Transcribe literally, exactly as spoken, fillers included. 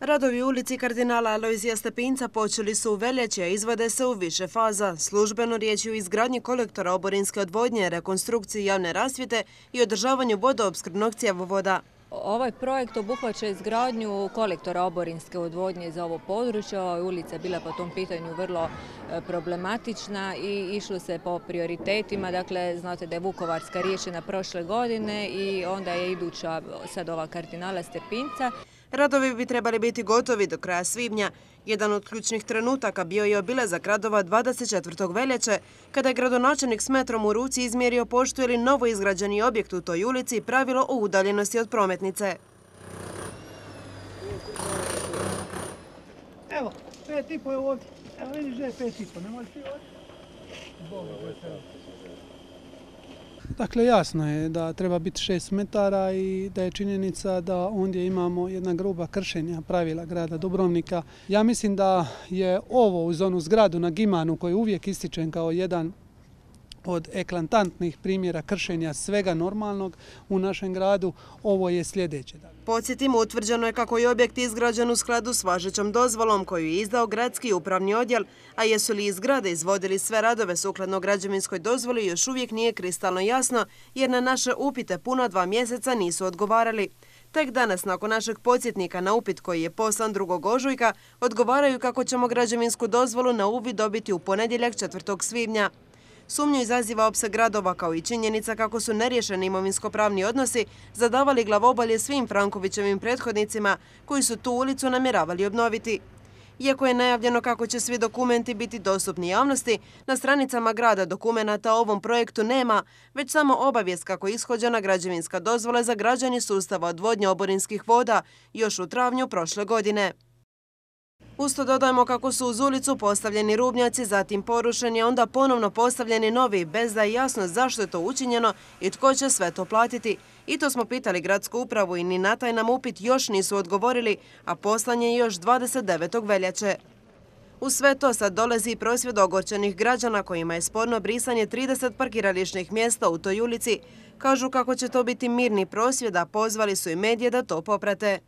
Radovi u ulici kardinala Alojzija Stepinca počeli su u veljači, a izvode se u više faza. Službeno riječ je o izgradnji kolektora oborinske odvodnje, rekonstrukciji javne rasvjete i održavanju vodoopskrbnog cjevovoda. Ovaj projekt obuhvaća izgradnju kolektora oborinske odvodnje za ovo područje. Ova ulica je bila po tom pitanju vrlo problematična i išlo se po prioritetima. Dakle, znate da je Vukovarska riješena prošle godine i onda je iduća sad ova kardinala Stepinca. Radovi bi trebali biti gotovi do kraja svibnja. Jedan od ključnih trenutaka bio je obilazak radova dvadeset četvrtog veljače, kada je gradonačelnik s metrom u ruci izmjerio poštuje li novo izgrađeni objekt u toj ulici pravilo o udaljenosti od prometnice. Evo, pet i po je ovdje. Evo vidiš da je pet i po, ne možeš ti ovdje. Dakle, jasno je da treba biti šest metara i da je činjenica da ondje imamo jedna gruba kršenja pravila grada Dubrovnika. Ja mislim da je ovo uz onu zgradu na Gimanu koju uvijek ističem kao jedan od eklatantnih primjera kršenja svega normalnog u našem gradu, ovo je sljedeće. Podsjetimo, utvrđeno je kako je objekt izgrađen u skladu s važećom dozvolom koju je izdao gradski upravni odjel, a jesu li iz zgrade izvodili sve radove sukladno građevinskoj dozvoli još uvijek nije kristalno jasno, jer na naše upite puna dva mjeseca nisu odgovarali. Tek danas, nakon našeg podsjetnika na upit koji je poslan drugog ožujka, odgovaraju kako ćemo građevinsku dozvolu na uvid dobiti u ponedjeljak četvrtog svibnja. Sumnju izaziva opseg radova kao i činjenica kako su neriješeni imovinsko-pravni odnosi zadavali glavobolje svim Frankovićevim prethodnicima koji su tu ulicu namjeravali obnoviti. Iako je najavljeno kako će svi dokumenti biti dostupni javnosti, na stranicama grada dokumenata o ovom projektu nema, već samo obavijest kako je ishođena građevinska dozvola za građenje sustava odvodnje oborinskih voda još u travnju prošle godine. Usto dodajemo kako su uz ulicu postavljeni rubnjaci, zatim porušeni, a onda ponovno postavljeni novi, bez da je jasno zašto je to učinjeno i tko će sve to platiti. I to smo pitali gradsku upravu i ni na taj nam upit još nisu odgovorili, a poslan je još dvadeset devetog veljače. U sve to sad dolazi i prosvjed ogorčenih građana kojima je sporno brisanje trideset parkirališnih mjesta u toj ulici. Kažu kako će to biti mirni prosvjed, a pozvali su i medije da to poprate.